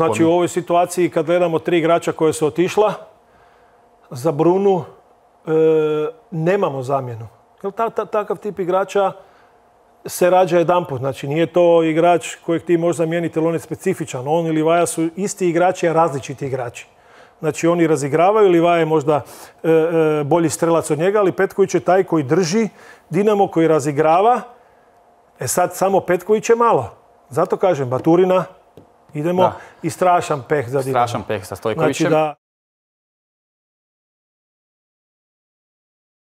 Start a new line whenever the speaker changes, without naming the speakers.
Znači u ovoj situaciji kad gledamo 3 igrača koje su otišla za Brunu, nemamo zamjenu. Jer takav tip igrača se rađa jedanput. Znači nije to igrač kojeg ti možeš zamijeniti, ali on je specifičan. On i Livaja su isti igrači, a različiti igrači. Znači oni razigravaju, Livaja je možda bolji strelac od njega, ali Petković je taj koji drži Dinamo, koji razigrava. Sad samo Petković je malo. Zato kažem, Baturina, idemo i strašan peh za Dinamo.
Strašan peh sa Stojkovićem.
Znači